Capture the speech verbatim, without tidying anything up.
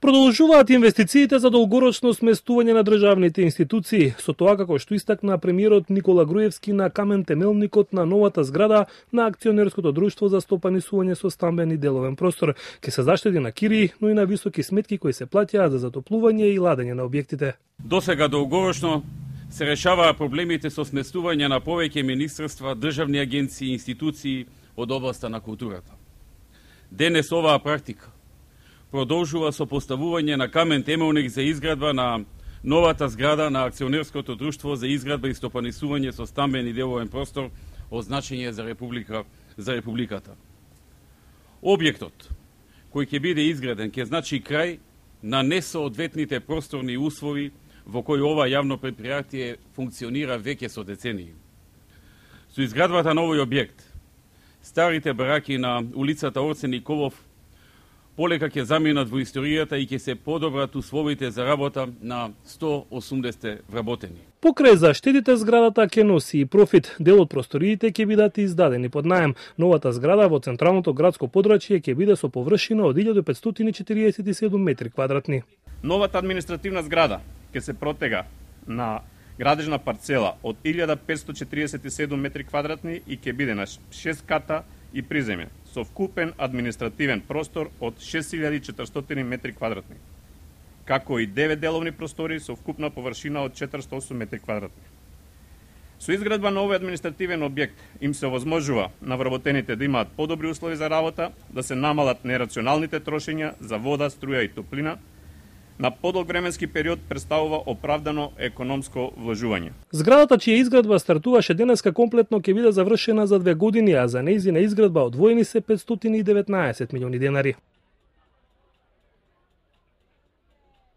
Продолжуваат инвестициите за долгорочно сместување на државните институции, со тоа како што истакна премиерот Никола Груевски на камен темелникот на новата зграда на акционерското друштво за стопанисување со стамбен и деловен простор. Ке се заштеди на кирии, но и на високи сметки кои се плаќаат за затоплување и ладење на објектите. Досега долгорочно се решаваа проблемите со сместување на повеќе министерства, државни агенции и институции од областа на културата. Денес оваа практика продолжува со поставување на камен темелник за изградба на новата зграда на акционерското друштво за изградба и стопанисување со стамбен и деловен простор од значење за република за републиката. Објектот кој ќе биде изграден ќе значи крај на несоодветните просторни услови во кои ова јавно предпријатие функционира веќе со децении. Со изградбата на овој објект, старите бараки на улицата Орце Николов полека ќе заминат во историјата и ќе се подобрат условите за работа на сто осумдесет вработени. Покрај заштедите зградата ќе носи и профит. Дел од просториите ќе бидат издадени под наем. Новата зграда во централното градско подрачје ќе биде со површина од илјада петстотини четириесет и седум метри квадратни. Новата административна зграда ќе се протега на градежна парцела од илјада петстотини четириесет и седум метри квадратни и ќе биде на шест ката и приземје, со вкупен административен простор од шест илјади и четиристотини метри квадратни, како и девет деловни простори со вкупна површина од четиристотини и осум метри квадратни. Со изградба на овој административен објект им се овозможува на вработените да имаат подобри услови за работа, да се намалат нерационалните трошења за вода, струја и топлина, на подолг временски период представува оправдано економско вложување. Зградата чија изградба стартуваше денеска комплетно ќе биде завршена за две години, а за нејзина изградба одвоени се петстотини и деветнаесет милиони денари.